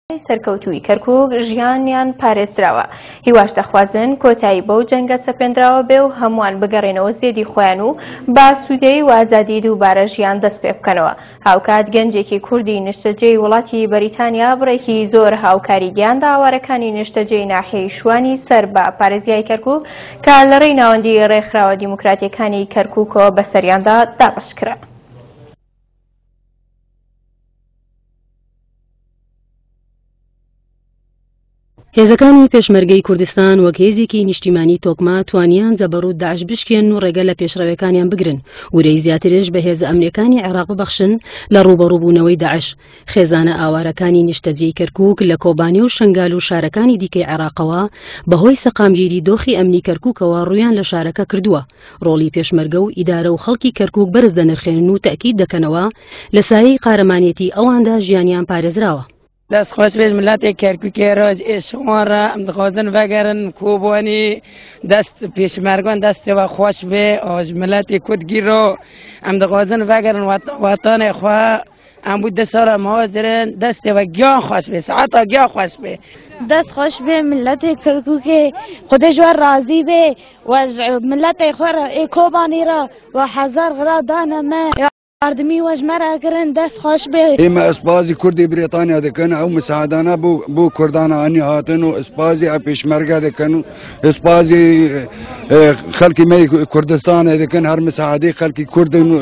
سەرکەوتووی کەرکوک ژیانیان پارێزراوە، هیواش دەخوازن کۆتایی بەو جەنگە سەپێندراوە بێ و هەمووان بگەڕێنەوە زێدی خۆیان و بە ئاسوودەیی و ئازادی دووبارە ژیان دەست پێ بکەنەوە. هاوکات گەنجێکی کوردی نیشتەجێی وڵاتی بەریتانیا بڕێکی زۆر هاوکاری گەیاندە ئاوارەکانی نیشتەجێی ناحیەی شوانی سەر بە پارێزگای کەرکوک کە لە ڕێی ناوەندی ڕێکخراوە دیموکراتیەکانی کەرکوکەوە بەسەریاندا دابەشکرا. هێزەکانی پێشمەرگەی کوردستان وەک هێزێکی نیشتیمانی تۆکمە توانیان جەبەڕوت داعش بشکێنن و ڕێگە لە پێشڕەوێکانیان بگرن، ورەی زیاترش بە هێزە ئەمنیەکانی عێراق ببەخشن لە ڕووبەڕووبوونەوەی داعش. خێزانە ئاوارەکانی نیشتەجێی کەرکوک لە کۆبانێ و شنگال و شارەکانی دیکەی عێراقەوە بەهۆی سەقامگیری دۆخی ئەمنی کەرکوکەوە ڕوویان لە شارەکە کردووە. ڕۆڵی پێشمەرگە و ئیدارە و خەڵکی کەرکوک بەرز دەنرخێنن و تەئکید دەکەنەوە لە سایەی قارەمانێتی ئەواندا ژیانیان پارێزراوە. دەست خۆش بێت ملەتی کەرکوکی ڕۆژ ئێشوان ڕا ئەم دخوازن ڤەگەرن کۆبانی دەست پێشمەرگان دەستەوە خۆش بێ ئاژ ملەتی کورد گیرۆ ئەم دخوازن ڤەگەرن وەتانێ خوا ئەم بوو ده ساڵە مهاجرن دەستەوە گیان خۆش بێ ساعتا گیان خۆش بێ. دەست خۆش بێ ملەتی کەرکوکێ خودێ ژوە ڕازی بێ و ملەتی خۆ ڕا ئێ کۆبانی ڕا و هەزار غرا دانە مە یاردمی وەژ مەرا کرن دەست خۆش بێ. ئێمە ئەسپازی کوردی بریتانیا دەکەن ئەو مساعدانە بۆ بۆ کوردانە ئانی هاتن و ئەسپازی ئە پێشمەرگە دەکەن و ئەسپازی خەڵکی مەی کوردستانە دەکەن هەر مساعدەی خەڵکی کوردن و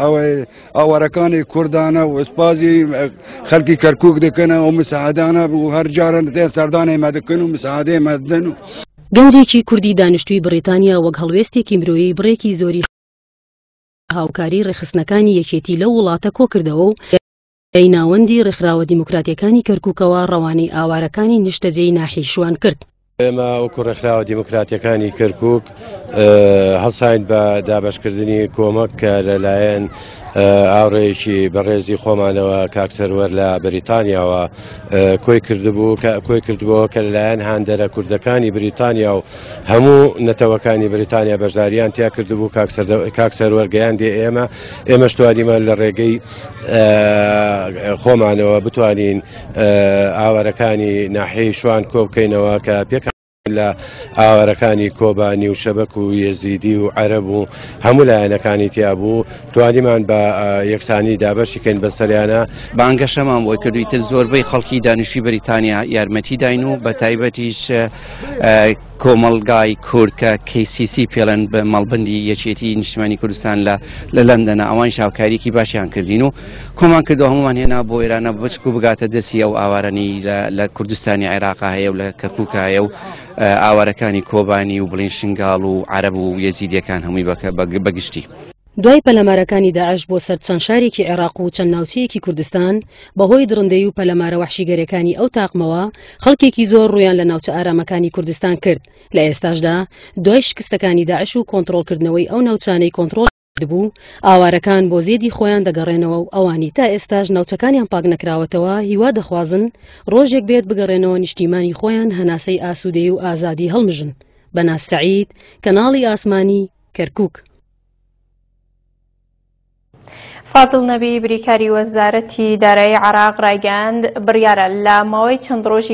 ئەوەی ئاوارەکانی کوردانە و ئەسپازی خەڵکی کەرکک دەکەن و مساعدانە و هەر جارن دێن سەردانێ مە دەکەن و مساعدەی مە دەن و گەنجێکی کوردی دانیشتووی بڕیتانیا وەک هەڵوێستێکی مرۆیی بڕێکی زۆری هاوکاری ڕێکخستنەکانی یەکێتی لەو وڵاتە کۆکردەوە و لە ناوەندی ڕێکخراوە دیموکراتیەکانی کەرکوکەوە ڕەوانەی ئاوارەکانی نیشتەجێی ناحیەی شوان کرد. ئێمە وەکو ڕێکخراوە دیموکراتیەکانی کەرکوک هەڵساین بە دابەشکردنی کۆمەک کە لەلایەن ئاوڕێکی بەڕێزی خۆمانەوە کاک سەروەر لە بەریتانیاوە کۆی کردبوو کە کۆی کردبووەوە کە لەلایەن هاندەرە کوردەکانی بریتانیا و هەموو نەتەوەکانی بریتانیا بەشداریان تیا کردبوو کاک سەروەر گەیاندێ ئێمە ئێمەش توانیمان لە ڕێگەی خۆمانەوە بتوانین ئاوارەکانی ناحیەی شوان کۆ بکەینەوە کە پێک لە ئاوارەکانی کۆبانی و شەبەک و یەزیدی و عەرەب و هەموو لایەنەکانی تیا بوو توانیمان بە یەکسانی دابەشی کەین بەسەریانە. بانگەشەمان بۆی کرد و ئیتر زۆربەی خەڵکی دانیشتووی بەریتانیا یارمەتی داین و بە تایبەتیش کۆمەڵگای کورد کە KCC پێڵێن بە مەڵبندی یەکێتی نیشتمانی کوردستان لە لە لەندەنە ئەوانیش هاوکاریکی باشیان کردین و کۆمان کردو هەمومان هێنا بۆ ئێرانە بچک و بگاتە دەستی ئەو ئاوارانی لە کوردستانی عێراقا هەیە و لە کەرکووکە هەیە و ئاوارەکانی کۆبانی و بڵین شنگاڵ و عەرەب و یەزیدیەکان هەمووی بەگشتی. دوای پەلامارەکانی داعش بۆ سەر چەند شارێکی عێراق و چەند ناوچەیەکی کوردستان، بەهۆی دڕندەیی و پەلامارە وەحشیگەرەکانی ئەو تاقمەوە، خەڵکێکی زۆر ڕوویان لە ناوچە ئارامەکانی کوردستان کرد، لە ئێستاشدا دوای شکستەکانی داعش و کۆنتڕۆڵکردنەوەی ئەو ناوچانەی کۆنتڕۆڵ کردبوو، ئاوارەکان بۆ زێدی خۆیان دەگەڕێنەوە و ئەوانی تا ئێستاش ناوچەکانیان پاک نەکراوەتەوە هیوا دەخوازن ڕۆژێک بێت بگەڕێنەوە نیشتیمانی خۆیان هەناسەی ئاسوودەیی و ئازادی هەڵمژن. بەناز سەعید، کەناڵی ئاسمانی، کەرکوک. فازڵ نەبی بریکاری وەزارەتی دارایی عێراق ڕایگەیاند، بڕیارە لە ماوەی چەند ڕۆژی.